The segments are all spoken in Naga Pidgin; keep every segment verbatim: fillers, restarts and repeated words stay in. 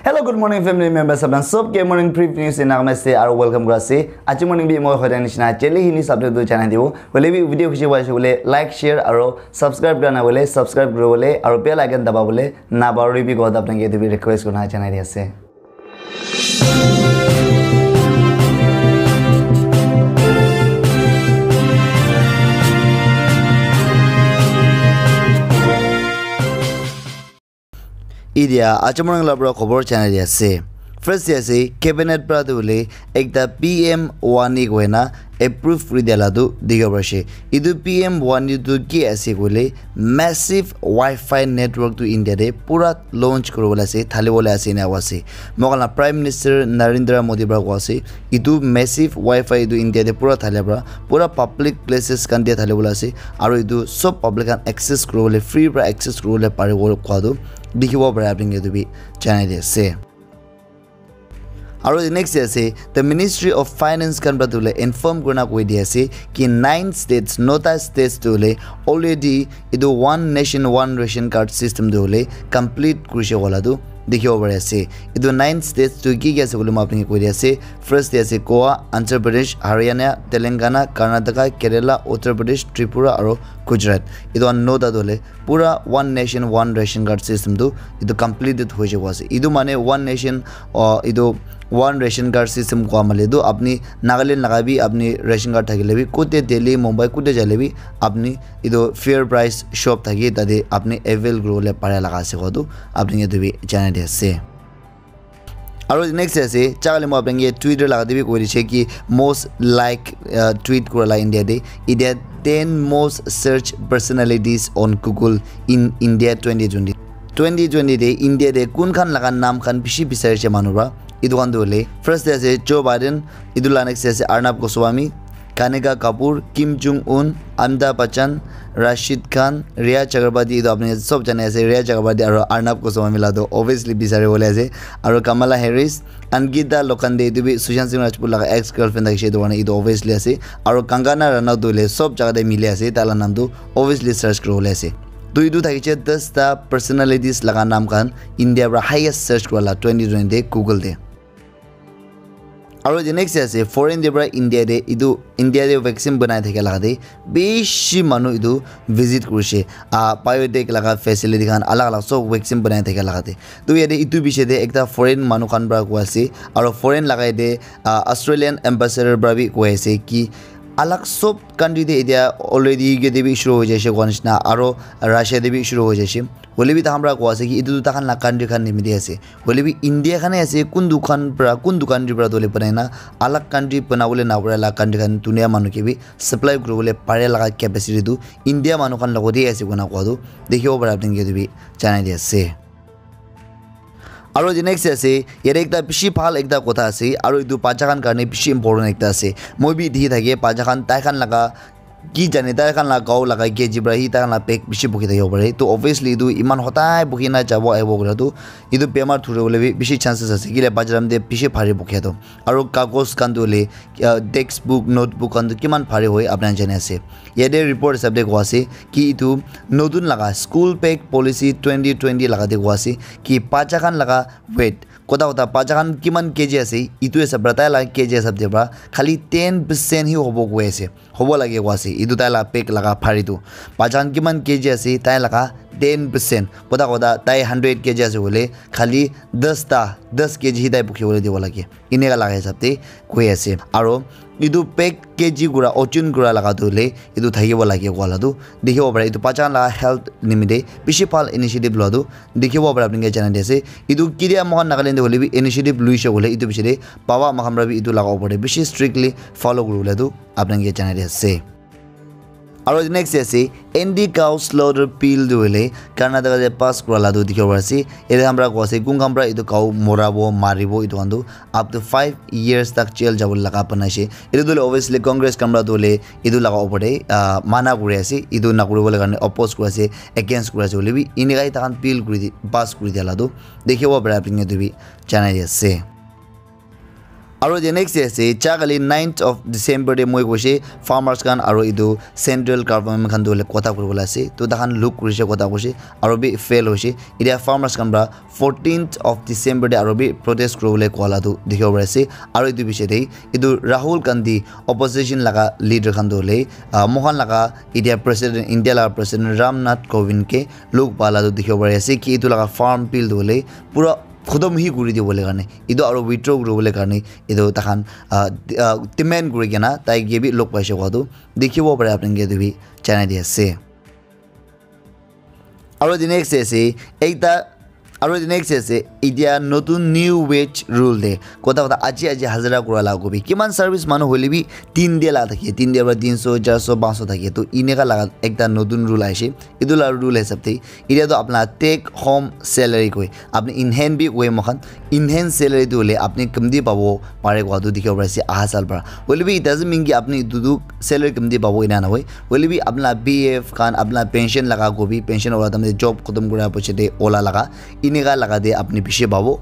Hello, good morning, family members. Apna sob ke morning brief news in Nagamise aru welcome kura ase. Aji morning bi moi hoida nishina daily Hindi subject tu janai dibo. Hoile bi video khushi paise bole like, share aru subscribe kura na bole subscribe kura bole aru bell icon daba bole na bari bi god apna ke etu bi request kurna janai di ase. Idia acha morning la pura khobor janai di ase. First di ase cabinet pra tu bole ekta P M Wani koina approve kuri dia la tu dikhibo pari ase. Etu P M Wani tu ki ase koile massive Wi-Fi network tu India te pura launch kuribole ase, thalibole ase ena koa ase. Moikhan la Prime Minister Narendra Modi pra koa ase, etu massive Wi-Fi etu India te pura thalia pra pura public places khan te thalibole ase, aru etu sob public khan access kuribole, free pra access kuribole paribo koa tu dikhibo pare apni khan etu bi janai di ase. Aru the next day ase, the Ministry of Finance khan pra tu le inform kurina koi di ase ki nine states, nota states tu le already etu one nation one ration card system tu le complete kurishe wala tu dikhibo pari ase. Etu nine states tu ki ki ase koile moi apni ke koi di ase. First te ase Goa, Andhra Pradesh, Haryana, Telangana, Karnataka, Kerala, Uttar Pradesh, Tripura aru Gujarat. Etu khan nota tu le pura one nation one ration card system tu etu completed hoi jabo ase. Etu mane one nation, uh, etu one ration card system koa male tu apni Nagaland laga bi apni ration card thakile bi kute Delhi, Mumbai kute jaile bi apni etu fair price shop thaki tate apni avail kuribole pare laga ase koa tu apni ke etu bi janai di ase. Aru next ase, chakali moi apni ke Twitter laga te bi koi di ase ki most like, uh, tweet kura la India te. Idia ten most search personalities on Google in India twenty twenty. Twenty twenty te India te kun khan laga naam khan bishi bisari ase manu pra. Etu khan tu hoile, first te ase Joe Biden, etu la next te ase Arnab Goswami, Kanika Kapoor, Kim Jong Un, Amitabh Bachchan, Rashid Khan, Rhea Chakraborty, etu apni sob jane ase, Rhea Chakraborty aru Arnab Goswami la tu obviously bisari bole ase, aru Kamala Harris, Ankita Lokkhande, etu bi Sushant Singh Rajput laga ex girlfriend thakishe, etu karne etu obviously ase, aru Kangana Ranaut tu hoile sob jaga te mili ase, tai la naam tu obviously search kuri bole ase. Tu etu thakishe das ta personalities laga naam khan India pra highest search kura la twenty twenty te Google te. Aru the next ase foreign te pra India te etu India te vaccine banai thaka laga te bishi manu etu visit kurishe, ah, biotech laga facility khan alag alag sob vaccine banai thaka laga te. Tu yate etu bishi te ekta foreign manu khan pra koi ase, aru foreign laga yate, ah, Australian ambassador pra bi koi ase ki alag sob country te etia already yate bi shuru hoi jaise koa nishina, aru Russia te bi shuru hoi jaise. Hoile bi takhan pra koi ase ki etu tu takhan la country khan nimite ase. Hoile bi India khan he ase, kun dukan pra, kun dukan pra dole banai na, alag country banabole na pare la country khan dunia manu ke bi supply kuribole pare laga capacity tu India manu khan logote ase koina koa tu dikhibo pare apni ke etu bi janai di ase. Aru the next ase, yate ekta bishi bhal ekta kotha ase, aru etu bacha khan karne bishi important ekta ase. Moi bi dikhi thake, bacha khan tai khan laga ki jane tai khan la gao laga K G pra hi tai khan la pek bishi bukhi thakibo pare. To obviously etu iman hodai bukhi na jabo ahibo kura tu etu bemar thuri bole bi bishi chances ase. Kile bajaram te bishi bhari bukhe tu. Aru kagos khan tu hoile, ah, textbook, notebook khan tu kiman bhari hoi apni khan jani ase. Yate report hisab te koa ase ki etu notun laga school bag policy twenty twenty laga te koa ase ki bacha khan laga weight, kota kota bacha khan kiman K G ase, etu hisab pra tai laga K G hisab te pra khali ten percent hi hobo koi ase. Hobo lage koa ase. Etu tai la bag laga bhari tu. Bacha khan kiman K G ase, tai laga ten percent. Kota kota tai hundred K G ase hoile, khali das ta, das K G hi tai bukhi bole dibo lage. Eneka laga hisab te koi ase. Aru etu bag K G kura, ojon kura laga tu hoile, etu thakibo lage koa la tu. Dikhibo pare, etu bacha khan laga health nimite bishi bhal initiative lua tu. Dikhibo pare apni ke janai di ase. Etu ketia moikhan Nagaland te hoile bi initiative luishe koile, etu piche te baba moikhan pra bi etu laga opor te bishi strictly follow kuribole tu apni ke janai di ase. Aru next ase, anti cow slaughter bill tu hoile Karnataka te pass kura la tu dikhibo pari ase. Yate khan pra koi ase, kun khan pra etu cow morabo, maribo, etu khan tu up to five years tak jail jabo laga banai ase. Etu tu hoile obviously Congress khan pra tu hoile etu laga opor te, ah, mana kuri ase, etu na kuribole karne oppose kuri ase, against kuri ase hoile bi, eneka tai khan bill kuri di, pass kuri dia la tu dikhibo pare apni ke etu bi janai di ase. Aro the next day ase, cha kali ninth of December te moi koise farmers khan aro etu central government khan tu hoile kotha kuribole ase. To takhan look kurise, kotha kurise, aro bi fail hoise. Etia farmers khan pra fourteenth of December te aro bi protest kuribole koa la tu dikhibo pari ase. Aro etu piche te etu Rahul Gandhi, opposition laga leader khan tu hoile, ah, moikhan laga etia president, India laga president Ram Nath Kovind ke look pa la tu dikhibo pari ase ki etu laga farm bill tu hoile pura khotom hi kuri dibole karne, etu aro withdraw kuribole karne etu takhan, ah, d-, ah, demand kuri kena tai ke bi log paise koa tu dikhibo pare, apni ke etu bi janai di ase. Aro the next day ase, ekta, aro the next day ase, etia notun new wage rule de, kotha kotha aji aji hazira kura la kobi, kiman service manu hoile bi tin day la thake, tin day pra tin so, char so, panch so thake, to ineka laga ekta notun rule aise. Etu la rule hisab te, etia tu apna take home salary koi, apni in hand bi koi moikhan, in hand salary tu hoile apni kamti pabo pare koa tu dikhibo pari ase aha sal pra. Hoile bi it doesn't mean ki apni etu tu salary kamti pabo ena nahoi. Hoile bi apna P F khan, apna pension laga kobi, pension wala time te job khotom kura piche te ola laga, ineka laga te apni bishi pabo.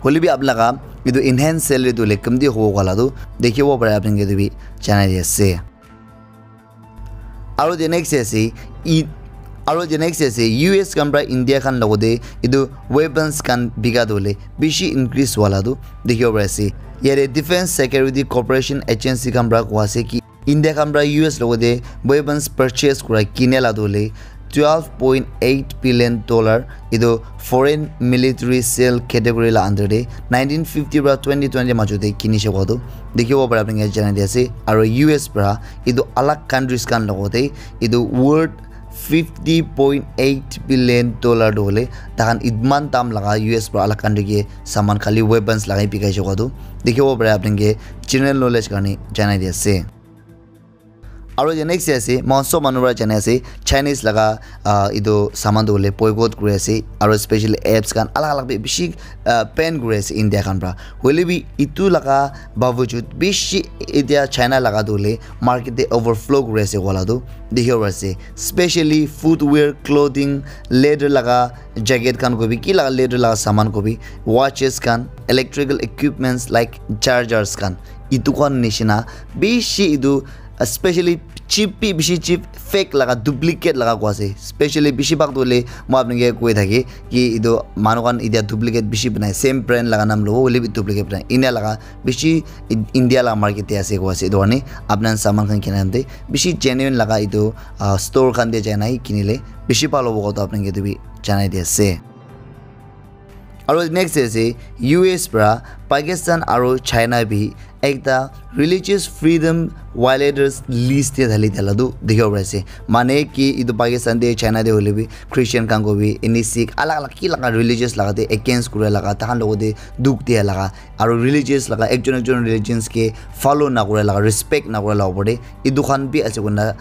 Hoile bi apna laga etu in hand salary tu hoile kamti hobo koa la tu dikhibo pare, apni ke etu bi janai di ase. Aro the next ase, i, aro the next ase, U S khan pra India khan logote etu weapons khan bika tu hoile bishi increase wala tu dikhibo pari ase. Yate Defense Security Cooperation Agency khan pra koa ase ki India khan pra U S logote weapons purchase kura kine la tu hoile twelve point eight billion dollar etu foreign military sale category la under te nineteen fifty pra twenty twenty majo te kinishe koa tu dikhibo pare, apni ke janai di ase. Aro U S pra etu alag countries khan logote etu worth fifty point eight billion dollar tu hoile takhan itman dam laga U S pra alag country ke saman khali weapons lagai bikaise koa tu dikhibo pare, apni ke general knowledge karne janai di ase. Aro the next day ase, moikhan sob manu para jani ase, Chinese laga, ah, etu saman tu hoile boycott kuri ase, aro specially apps khan alag alag bi bishi, ah, ban kuri ase India khan para. Hoile bi etu laga bawajud bishi etia China laga tu hoile market te overflow kuri ase wala tu dikhibo pari ase. Specially footwear, clothing, leather laga jacket khan kobi, ki laga leather laga saman kobi, watches khan, electrical equipments like chargers khan, etu khan nishina bishi etu, especially cheap bi bishi cheap, fake laga, duplicate laga koa ase. Specially bishi bhag tu hoile moi apni ke koi thake ki etu manu khan etia duplicate bishi banai, same brand laga naam lobo hoile bi duplicate banai, enia laga bishi I-, India laga market te ase koa ase. Etu karne apni khan saman khan kina time te bishi genuine laga etu, ah, store khan te jai na hi kinile bishi bhal hobo koa tu apni ke etu bi janai di ase. Aro next ase U S para Pakistan aro China bi ekta religious freedom violators list te dhali thala tu dikhibo pari ase. Mane ki etu Pakistan te China te hoile bi Christian khan ko bi, any Sikh, alag alag ki laga religious laga te against kura laga, tahan logo te dukh dia laga, aro religious laga ekjon ekjon religions ke follow na kura laga, respect na kura laga opor te etu khan bi ase koina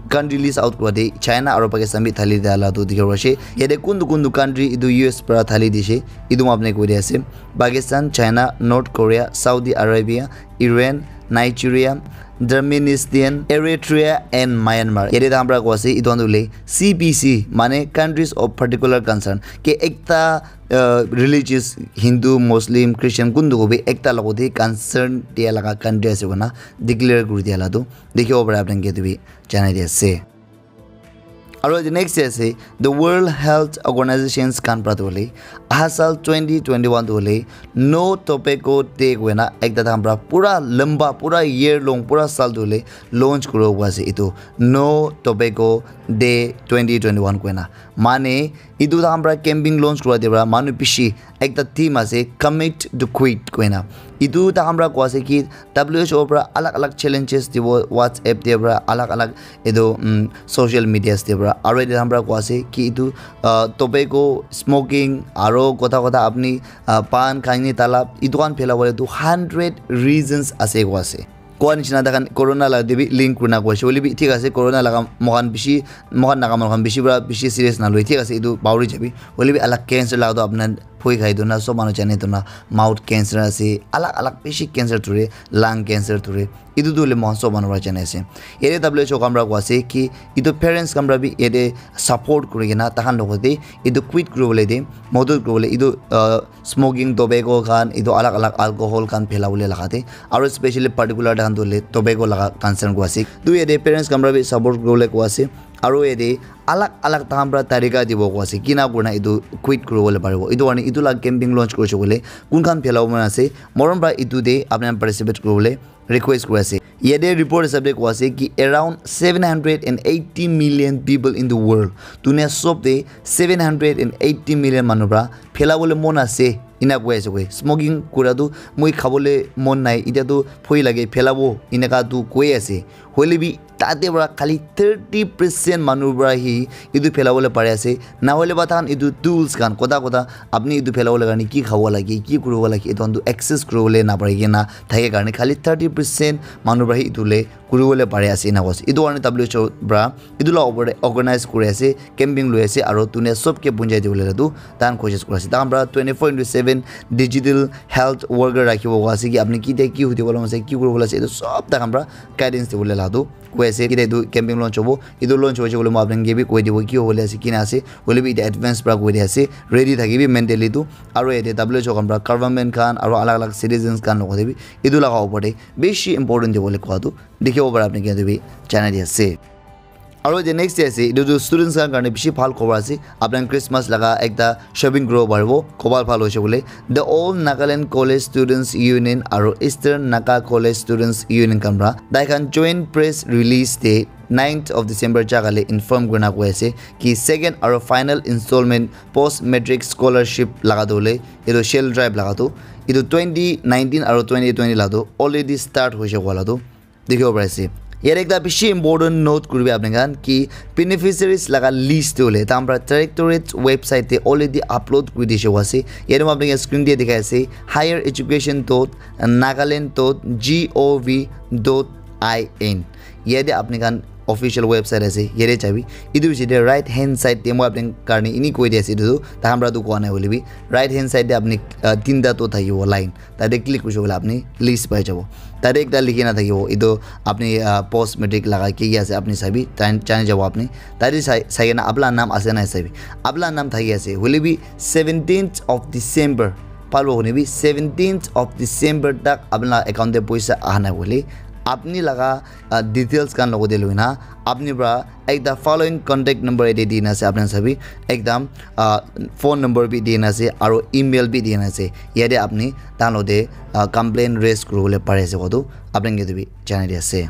country list out kura te China aro Pakistan bi thali dia la tu dikhibo pari ase. Yate kuntu kuntu country etu U S para thali dise, etu moi apni ke koi di ase. Pakistan, China, North Korea, Saudi Arabia, Iran, Nigeria, Turkmenistan, Eritrea and Myanmar. Yate tahan para koi ase, etu khan tu hoile C P C, mane countries of particular concern. Ke ekta, uh, religious, Hindu, Muslim, Christian, kuntu ko bi ekta logo te concern dia laga country ase koina declare kuri dia la tu dikhibo pare apni ke tu bi janai di ase. Aro the next day ase, the World Health Organizations khan para tu hoile, aha sal twenty twenty-one tu hoile, No Tobacco Day koina ekta tahan para pura lamba, pura year long, pura sal tu hoile launch kuro koi ase etu No Tobacco Day twenty twenty-one koina. Mane, etu tahan para campaign launch kura te para manu bishi ekta theme ase, Commit to Quit koina. Etu tahan para koi ase ki W H O para alag alag challenges dibo, WhatsApp te para alag alag etu, um, social medias te para. Aro etu tahan para koi ase ki etu, uh, tobacco, smoking, aro kotha kotha apni, uh, pan, khaini, talab, etu khan phelabole tu hundred reasons ase koi ase. Koa nishina tahan corona laga te bi link kurina koi ase. Hoile bi thik ase, corona laga moikhan bishi, moikhan Naga manu khan bishi para bishi serious na loi, thik ase, etu bahuri jabi. Hoile bi alag cancer laga tu apna Phoi khai tu na, sob manu jane tu na, mouth cancer ase, alag alag bishi cancer thuri, lung cancer thuri. Itu tu le mohan sob manu para jane ase. Yate W H O khan para koa ase ki itu parents khan para bi yate support kuri kena takhan logote itu quit kuribole de madad kuribole itu, uh, smoking, tobacco khan, itu alag alag alcohol khan phelabole laga de, aro especially particular takhan tu le tobacco laga concern koa ase. Tu yate parents khan para bi support kuribole koa ase. Aro yate alag alag takhan para tarika dibo koa ase, kina kurina itu quit kuribole paribo. Itu karne itu la campaign launch kurise koile kun khan phelabo mon ase, morom para itu te apni khan participate kuribole request kuri ase. Yate report hisab te koa ase ki around seven hundred and eighty million people in the world. Dunia sob te seven hundred and eighty million manu para phelabole mon ase, ina koi ase koi. Smoking kura tu moi khabole mon nai, itya tu phoi lage, phelabo, inaka tu koi ase. Hoile bi tate para khali thirty percent manu para hi itu phelabole pari ase. Na hoile ba takhan itu tools khan, kota kota, apni itu phelabole karne ki khabo lage, ki kuribo lage, itu khan tu access kuribole napari kena thake karne khali thirty percent manu para hi itu le kuribole pari ase, ina koa ase. Itu karne W H O para itu la opor te organize kuri ase, campaign lui ase, aro dunia sob ke punjai dibole la tu takhan koshish kuri ase. Takhan para twenty-four into seven digital health worker rakhibo koa ase ki apni kitia ki hudi wala ase, ki kuribo la ase, itu sob takhan para guidance dibole la tu koi ase. Kitia itu campaign launch hobo, itu launch hoise koile moi apni ke bi koi dibo ki hobole ase, kina ase, hoile bi itu advance para koi di ase, ready thakibi mentally tu. Aro yate W H O khan para government khan aro alag alag citizens khan logote bi itu laga opor te bishi important dibole koa tu dikhibo para apni ke bi janai di ase. Aro the next day ase, itu tu students khan karne bishi bhal khobor ase. Apni Christmas laga ekta shopping kuribo paribo, khobal bhal hoise bole. The All Nagaland College Students Union aro Eastern Naga College Students Union khan para tai khan joint press release te ninth of December jaga le inform kurina koi ase ki second aro final installment post matric scholarship laga tu le itu shell drive laga tu itu twenty nineteen aro twenty twenty la tu already start hoise koa la tu dikhibo pari ase. Yate ekta bishi important note kuribi apni khan ki beneficiaries laga list tu hoile takhan para directorate website te already upload kuri dishe koa ase. Yate moi apni khan screen te dikhai ase, higher education dot nagaland dot gov dot in. Yate apni khan official website ase, yate jabi. Itu piche te right hand side te moi apni karne ini koi di ase, itu tu takhan para tu koa nai hoile bi right hand side te apni, uh, tinta tu thakibo line. Tate click kurise koile apni list pai jabo. Tate ekta likhi na thakibo, itu apni, ah, post matric laga ki ki ase apni sabi, tan-, jani jabo apni. Tate sai, sai kena apni la naam ase na sabi. Apni la naam thaki ase. Hoile bi seventeenth of December, palo hone bi seventeenth of December tak apni la account te poisa aha nai hoile, apni laga, ah, details khan logote loina apni para ekta following contact number yate dina ase, apni sabi ekdam, ah, phone number bi dina ase aro email bi dina ase. Yate apni takhan logote, ah, complaint raise kuribole pari ase koa tu apni ke tu bi janai di ase.